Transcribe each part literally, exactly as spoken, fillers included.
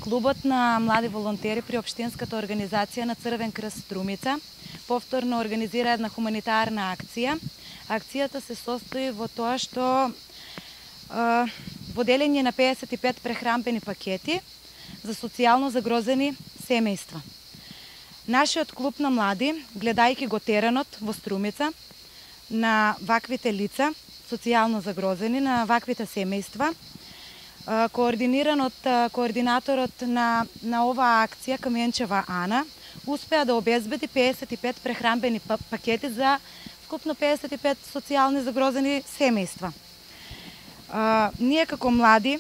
Клубот на млади волонтери при Општинската организација на Црвен крст Струмица повторно организира една хуманитарна акција. Акцијата се состои во тоа што е, во делење на педесет и пет прехранбени пакети за социјално загрозени семејства. Нашиот клуб на млади, гледајќи го теренот во Струмица на ваквите лица, социјално загрозени, на ваквите семејства, координиран од координаторот на, на оваа акција Каменчева Ана, успеа да обезбеди педесет и пет прехранбени пакети за вкупно педесет и пет социјални загрозени семејства. А, ние како млади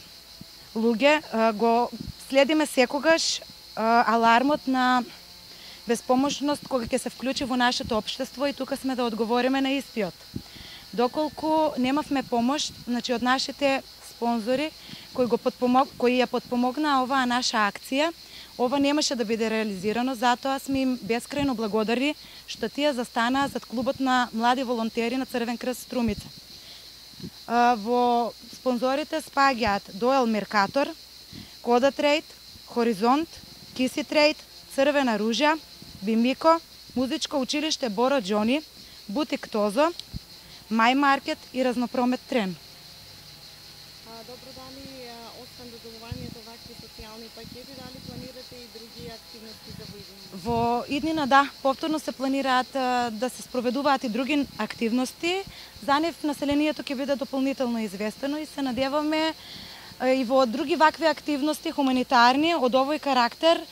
луѓе а, го следиме секогаш а, алармот на безпомошност кога ќе се вклучи во нашето општество и тука сме да одговориме на истиот. Доколку немавме помош, значи од нашите спонзори кои го подпомог, кои ја подпомогнаа оваа наша акција, ова немаше да биде реализирано, затоа сме им бескрајно благодарни што тие застанаа зад клубот на млади волонтери на Црвен крст Струмица. Во спонзорите спаѓаат Доел Меркатор, Кода Трейд, Хоризонт, Киси Трейд, Црвена ружја, Бимико, Музичко училиште Боро Џони, Бутик Тозо, Мај Маркет и Разнопромет Трен. Добро, дали освен додолувањето вакви социјални пакети, дали планирате и други активности за во иднина? Во иднина, да, повторно се планираат да се спроведуваат и други активности. За нив населението ќе биде дополнително известено и се надеваме и во други вакви активности хуманитарни од овој карактер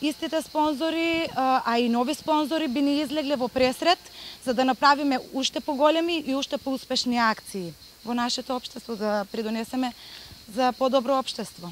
истите спонзори, а и нови спонзори би ни излегле во пресрет за да направиме уште поголеми и уште поуспешни акции во нашето општество, да придонесеме за подобро општество.